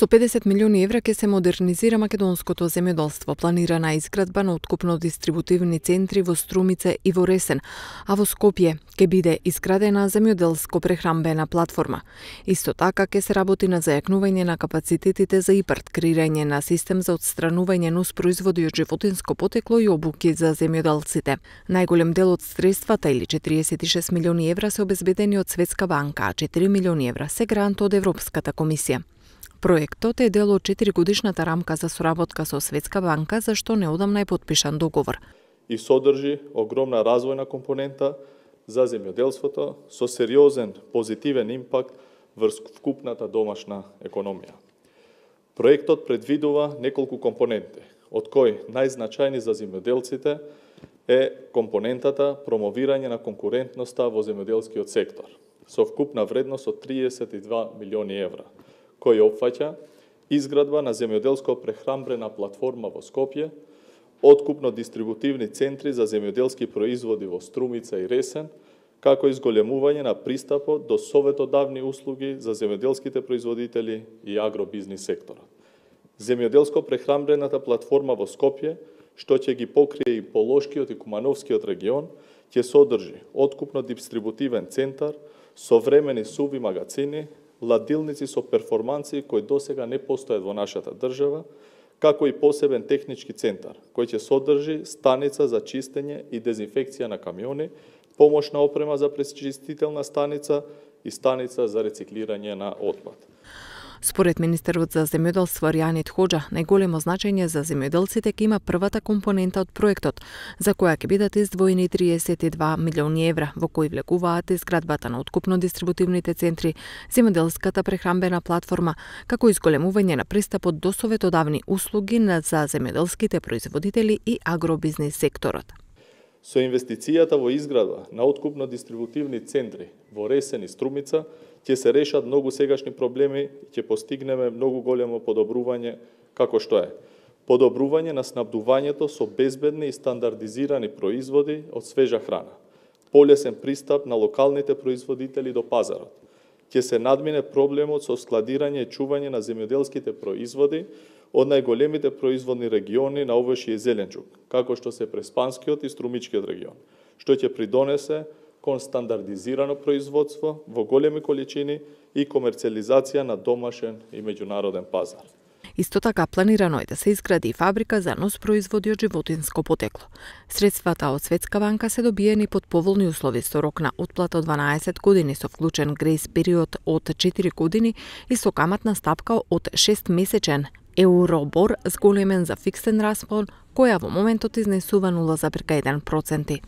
Со 50 милиони евра ќе се модернизира македонското земјоделство. Планирана изградба на откупно-дистрибутивни центри во Струмица и во Ресен, а во Скопје ќе биде изградена земјоделско-прехранбена платформа. Исто така ќе се работи на зајакнување на капацитетите за ИПАРТ, креирање на систем за отстранување нуспроизводи од животинско потекло и обуки за земјоделците. Најголем дел од средствата, или 46 милиони евра, се обезбедени од Светска банка, а 4 милиони евра се грант од Европската комисија. Проектот е дел од 4-годишната рамка за соработка со Светска банка, за што неодамна е подпишан договор. И содржи огромна развојна компонента за земјоделството со сериозен позитивен импакт врз вкупната домашна економија. Проектот предвидува неколку компоненти, од кои најзначајни за земјоделците е компонентата промовирање на конкурентноста во земјоделскиот сектор, со вкупна вредност од 32 милиони евра, кој опфаќа изградба на земјоделско-прехранбена платформа во Скопје, откупно-дистрибутивни центри за земјоделски производи во Струмица и Ресен, како и зголемување на пристапот до советодавни услуги за земјоделските производители и агробизнис секторот. Земјоделско-прехранбената платформа во Скопје, што ќе ги покрие и Полошкиот и Кумановскиот регион, ќе содржи откупно-дистрибутивен центар, современи суви магазини, ладилници со перформанси кои досега не постојат во нашата држава, како и посебен технички центар, кој ќе содржи станица за чистење и дезинфекција на камиони, помошна опрема за пречистителна станица и станица за рециклирање на отпад. Според министерот за земјоделство Ријанит Хоџа, најголемо значење за земјоделците ќе има првата компонента од проектот, за која ќе бидат издвоени 32 милиони евра, во кои влегуваат изградбата на откупно-дистрибутивните центри, земјоделската прехранбена платформа, како и зголемување на пристапот до советодавни услуги за земјоделските производители и агробизнис секторот. Со инвестицијата во изградба на откупно-дистрибутивни центри во Ресен и Струмица ќе се решат многу сегашни проблеми и ќе постигнеме многу големо подобрување, како што е подобрување на снабдувањето со безбедни и стандардизирани производи од свежа храна, полесен пристап на локалните производители до пазарот, ќе се надмине проблемот со складирање и чување на земјоделските производи од најголемите производни региони на овошје и зеленчук, како што се Преспанскиот и Струмичкиот регион, што ќе придонесе кон стандардизирано производство во големи количини и комерцијализација на домашен и меѓународен пазар. Исто така планирано е да се изгради фабрика за носпроизводи од животинско потекло. Средствата од Светска банка се добиени под поволни услови со рок на отплата од 12 години со вклучен грейс период од 4 години и со каматна стапка од 6-месечен Еуробор зголемен за фиксен распон, која во моментот изнесува 0,1%.